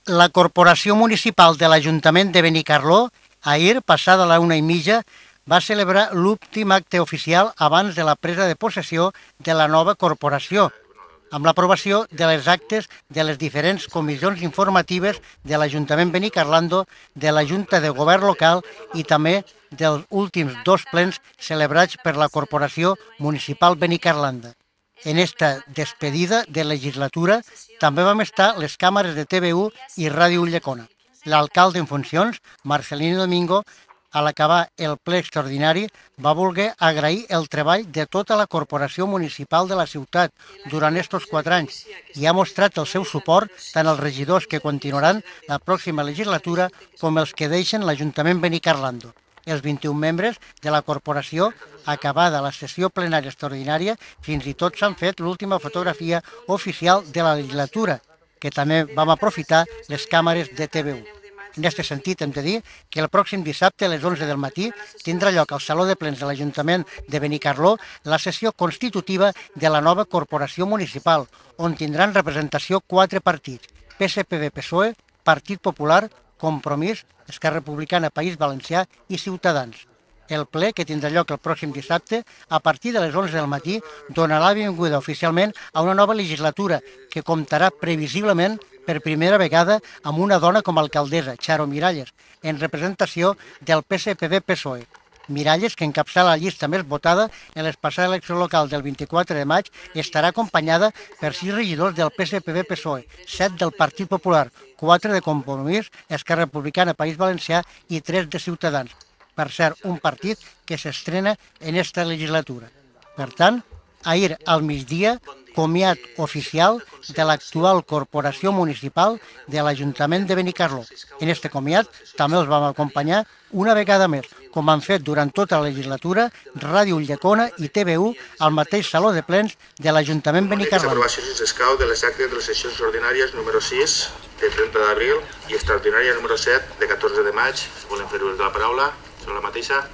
La Corporació Municipal de l'Ajuntament de Benicarló, ahir, passada la 1:30, va celebrar l'últim acte oficial abans de la presa de possessió de la nova corporació, amb l'aprovació de les actes de les diferents comissions informatives de l'Ajuntament Benicarlando, de la Junta de Govern local i també dels últims 2 plens celebrats per la Corporació Municipal Benicarlanda. En esta despedida de legislatura també vam estar les càmeres de TV1 i Ràdio Ulldecona. L'alcalde en funcions, Marcelino Domingo, a l'acabar el ple extraordinari, va voler agrair el treball de tota la corporació municipal de la ciutat durant estos 4 anys i ha mostrat el seu suport tant als regidors que continuaran la pròxima legislatura com els que deixen l'Ajuntament Benicarlando. Els 21 membres de la corporació, acabada la sessió plenària extraordinària, fins i tot s'han fet l'última fotografia oficial de la legislatura, que també vam aprofitar les càmeres de TV1. En aquest sentit, hem de dir que el pròxim dissabte a les 11 del matí tindrà lloc al Saló de Plens de l'Ajuntament de Benicarló la sessió constitutiva de la nova corporació municipal, on tindran representació 4 partits, PSPB-PSOE, Partit Popular, Compromís, Esquerra Republicana, País Valencià i Ciutadans. El ple, que tindrà lloc el pròxim dissabte, a partir de les 11 del matí, donarà la benvinguda oficialment a una nova legislatura que comptarà previsiblement per primera vegada amb una dona com a alcaldessa, Charo Miralles, en representació del PSPB-PSOE. Miralles, que encapçala la llista més votada en les passades eleccions locals del 24 de maig, estarà acompanyada per 6 regidors del PSPB-PSOE, 7 del Partit Popular, 4 de Compromís, Esquerra Republicana, País Valencià i 3 de Ciutadans. Per cert, un partit que s'estrena en esta legislatura. Per tant, ahir al migdia, comiat oficial de l'actual corporació municipal de l'Ajuntament de Benicarló. En este comiat també els vam acompanyar una vegada més, com han fet durant tota la legislatura, Ràdio Ulldecona i TV1 al mateix Saló de Plens de l'Ajuntament Benicarló. Aprovació, si s'escau, de les actes de les sessions ordinàries número 6 de 30 d'abril i extraordinària número 7 de 14 de maig. Si volem fer ús de la paraula, són la mateixa.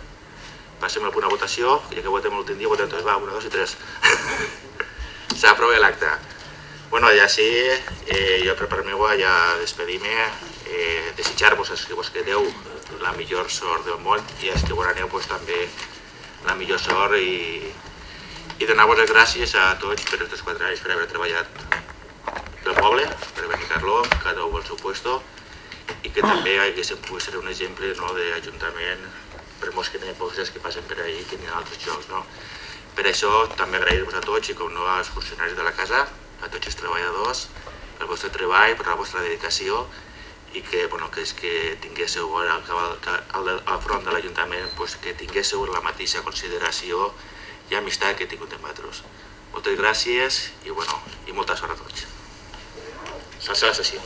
Passem al punt de votació, ja que votem l'últim dia, votem tots, va, 1, 2 i 3. S'aprova l'acte. Bueno, ja sí, jo per part meva ja despedim-me, desitjar-vos els que vos quedeu la millor sort del món i els que vos aneu també la millor sort i donar-vos les gràcies a tots per aquests 4 anys per haver treballat pel poble, per Benicarló, cada un al seu puesto i que també haguéssim pogut ser un exemple d'Ajuntament per molts que passen per ahí que n'hi ha altres jocs. Per això també agrair-vos a tots i com no als funcionaris de la casa, a tots els treballadors, pel vostre treball, per la vostra dedicació i que tinguéssiu al front de l'Ajuntament que tinguéssiu la mateixa consideració i amistat que he tingut amb vosaltres. Moltes gràcies i molta sort a tots. Salsa l'assassí.